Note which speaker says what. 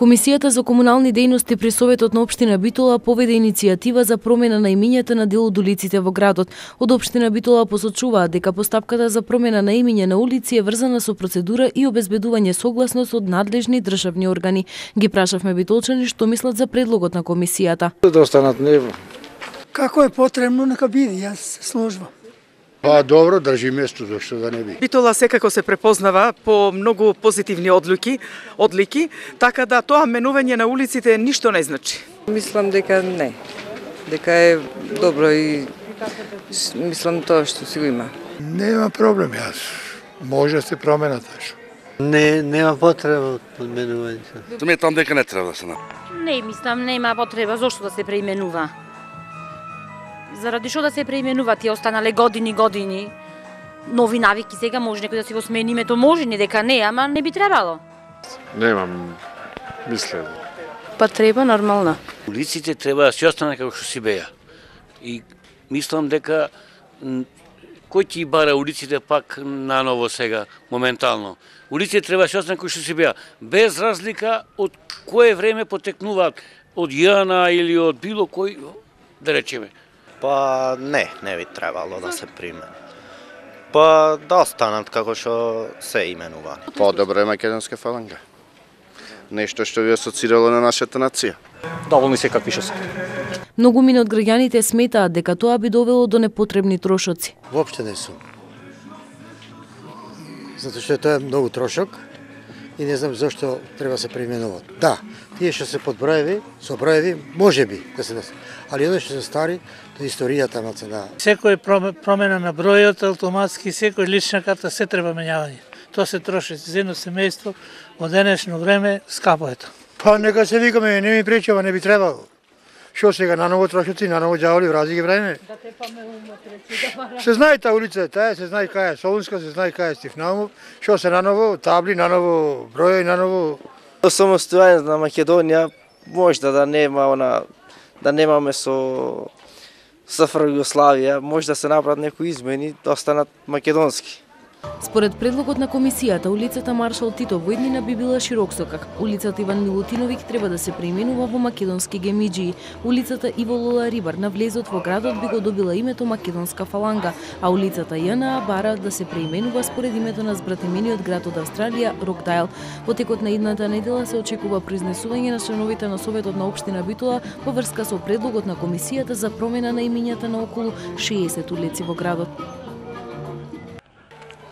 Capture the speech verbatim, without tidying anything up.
Speaker 1: Комисијата за комунални дејности при Советот на општина Битола поведе иницијатива за промена на имињата на дел од улиците во градот. Од општина Битола посочуваат дека постапката за промена на имиње на улици е врзана со процедура и обезбедување согласност од надлежни државни органи. Ги прашавме битолчани што мислат за предлогот на комисијата.
Speaker 2: Да останат него.
Speaker 3: Како е потребно, нека биде, јас се сложвам.
Speaker 2: Па добро, држи место, зашто да не би.
Speaker 4: Битола секако се препознава по многу позитивни одлики, одлики, така да тоа менување на улиците ништо не значи.
Speaker 5: Мислам дека не. Дека е добро и мислам тоа што си го има.
Speaker 2: Нема проблем, јас. Може да се променат што.
Speaker 6: Не, нема потреба од менување.
Speaker 7: Сметам дека не треба да се направи.
Speaker 8: Не, мислам нема потреба зошто да се преименува. Заради што да се преименува, тие останале години години. Нови навики сега може некој да си го смени името, може не дека не, ама не би требало.
Speaker 9: Немам мислење.
Speaker 8: Па треба нормално.
Speaker 6: Улиците треба да си останат како што си беа. И мислам дека кој ќе бара улиците пак наново сега, моментално. Улиците треба да си останат како што си беа, без разлика од кое време потекнуваат, од Јана или од било кој, да речеме.
Speaker 10: Па не, не би требало да се применат. Па да останат како што се именува.
Speaker 11: По-добро е македонска фаланга. Нешто што би асоцирало на нашата нација.
Speaker 12: Доволни се какви што се.
Speaker 1: Многумина од граѓаните сметаат дека тоа би довело до непотребни трошоци.
Speaker 13: Воопште не сум. Затоа што тоа е многу трошок и не знам зашто треба се преименуваат. Да, тие што се под броеви, со броеви, може би да се десе. Али оние што се стари, тоа историјата на цена.
Speaker 14: Секој промена на бројот, автоматски, секој лична карта, се треба менјавање. Тоа се троши за едно семејство, во денешно време, скапо е тоа.
Speaker 2: Па нека се викаме, не ми пречува, не би требало. Што сега, наново трошоци, наново ѓаволи, врази ги време?
Speaker 14: Да те памеуме пречи.
Speaker 2: Се знае таа улица, таа се знае кај е Солунска, се знае кај е Стифнаумов, што се наново, табли, наново броји, наново.
Speaker 15: Самостојање на Македонија можда да нема она, да немаме со СФР Југославија, може да се направат некои измени, да останат македонски.
Speaker 1: Според предлогот на комисијата, улицата Маршал Тито во иднина би била Широксокак. Улицата Иван Милутиновиќ треба да се преименува во македонски гемиџии. Улицата Иво Лола Рибар на влезот во градот би го добила името Македонска фаланга, а улицата Јана бара да се преименува според името на збратимениот град од Австралија, Рокдайл. Во текот на идната недела се очекува произнесување на членовите на Советот на општина Битола во врска со предлогот на комисијата за промена на имињата на околу шеесет улици во градот.